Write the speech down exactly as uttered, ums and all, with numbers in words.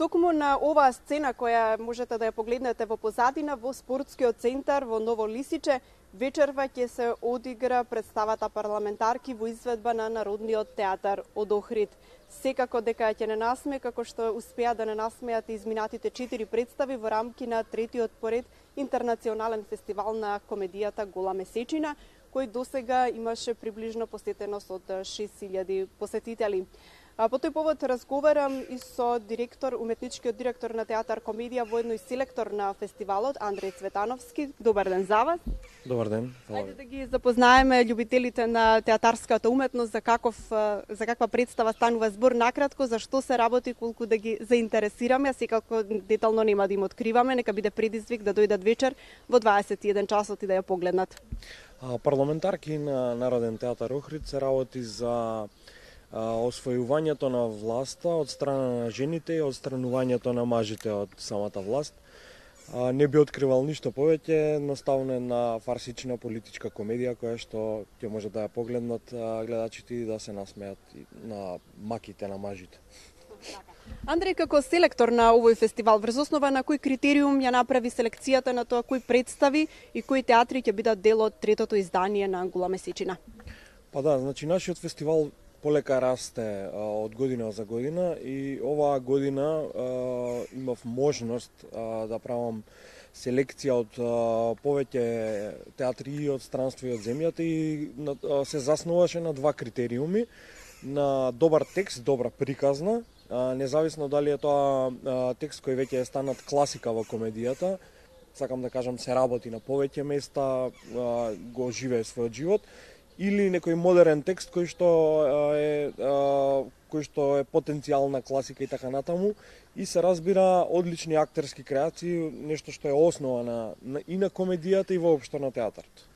Токму на оваа сцена која можете да ја погледнете во позадина во спортскиот центар во Ново Лисиче, вечерва ќе се одигра представата Парламентарки во изведба на Народниот театар од Охрид. Секако дека ќе не насме, како што успеа да не насмеат изминатите четири представи во рамки на третиот поред интернационален фестивал на комедијата Гола месечина, кој досега имаше приближно посетеност од шест илјади посетители. А по тој повод разговарам и со директор, уметничкиот директор на Театар Комедија, воедно и селектор на фестивалот, Андреј Цветановски. Добар ден за вас. Добар ден. Ајде да ги запознаеме љубителите на театарската уметност за каков за каква представа станува збор накратко, за што се работи, колку да ги заинтересираме, а секако детално нема да им откриваме, нека биде предизвик да дојдат вечер во дваесет и еден часот и да ја погледнат. Парламентарки на Народен театар Охрид се работи за освојувањето на власта од страна на жените и одстранувањето на мажите од самата власт. Не би откривал ништо повеќе, едноставно една фарсична политичка комедија која што ќе може да ја погледнат гледачите и да се насмеат на маките на мажите. Андреј, како селектор на овој фестивал, врз основа на кој критериум ја направи селекцијата на тоа кои представи и кои театри ќе бидат дел од третото издание на Гола месечина? Па да, значи нашиот фестивал полека расте а, од година за година и оваа година а, имав можност а, да правам селекција од а, повеќе театри од странство и од земјата и на, а, се заснуваше на два критериуми, на добар текст, добра приказна, а, независно дали е тоа а, текст кој веќе е станат класика во комедијата, сакам да кажам се работи на повеќе места, а, го живее својот живот, или некој модерен текст кој што е кој што е потенцијална класика и така натаму, и се разбира одлични актерски креации, нешто што е основа на, на и на комедијата и воопшто на театарот.